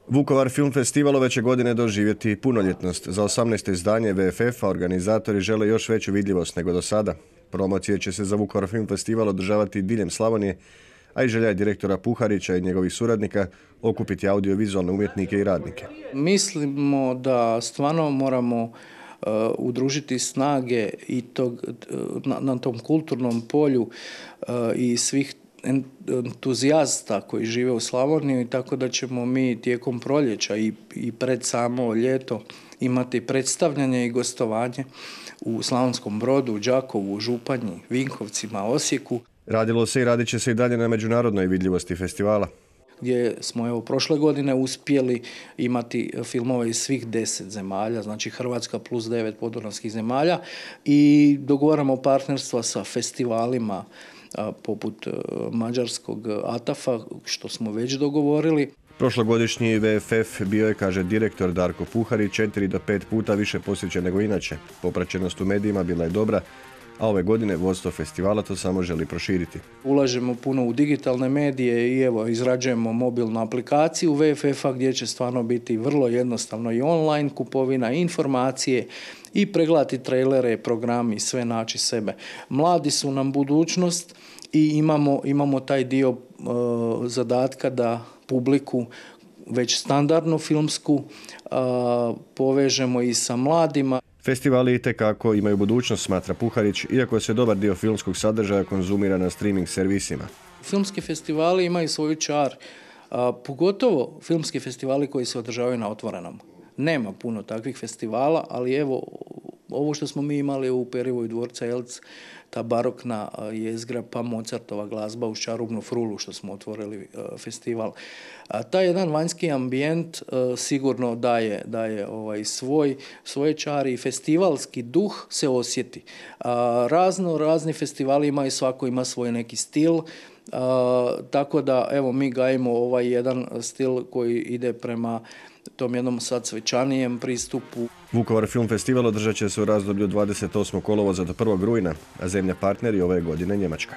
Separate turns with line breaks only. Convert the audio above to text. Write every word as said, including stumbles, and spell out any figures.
Vukovar Film Festival ove će godine doživjeti punoljetnost. Za osamnaesto izdanje V F F-a organizatori žele još veću vidljivost nego do sada. Promocije će se za Vukovar Film Festival održavati diljem Slavonije, a i želja je direktora Puharića i njegovih suradnika okupiti audiovizualne umjetnike i radnike.
Mislimo da stvarno moramo uh, udružiti snage i tog, na, na tom kulturnom polju uh, i svih entuzijasta koji žive u Slavoniji, tako da ćemo mi tijekom proljeća i, i pred samo ljeto imati predstavljanje i gostovanje u Slavonskom Brodu, Đakovu, Županji, Vinkovcima, Osijeku.
Radilo se i radit će se i dalje na međunarodnoj vidljivosti festivala,
gdje smo evo prošle godine uspjeli imati filmove iz svih deset zemalja, znači Hrvatska plus devet podunavskih zemalja, i dogovaramo partnerstva sa festivalima a, poput a, mađarskog A T A F-a, što smo već dogovorili.
Prošlogodišnji V F F bio je, kaže direktor Darko Puharić, četiri do pet puta više posjećen nego inače. Popraćenost u medijima bila je dobra, a ove godine vodstvo festivala to samo želi proširiti.
Ulažemo puno u digitalne medije i evo izrađujemo mobilnu aplikaciju V F F-a gdje će stvarno biti vrlo jednostavno i online kupovina, informacije i pregledati trailere, programi, sve naći sebe. Mladi su nam budućnost i imamo, imamo taj dio uh, zadatka da publiku već standardnu filmsku uh, povežemo i sa mladima.
Festivali itekako imaju budućnost, smatra Puharić, iako se dobar dio filmskog sadržaja konzumira na streaming servisima.
Filmski festivali imaju svoju čar, a, pogotovo filmski festivali koji se održavaju na otvorenom. Nema puno takvih festivala, ali evo, ovo što smo mi imali u Perivoju dvorca Elc, ta barokna jezgra pa Mozartova glazba uz čarobnu frulu što smo otvorili a, festival. A, taj jedan vanjski ambijent a, sigurno daje, daje ovaj, svoj, svoje čari i festivalski duh se osjeti. A, razno, razni festivali imaju, svako ima svoj neki stil, a, tako da evo mi gajimo ovaj jedan stil koji ide prema tom jednom sad svečanijem pristupu.
Vukovar Film Festival održat će se u razdoblju dvadeset osmog kolovoza do prvog rujna, a zemlja partneri ove godine Njemačka.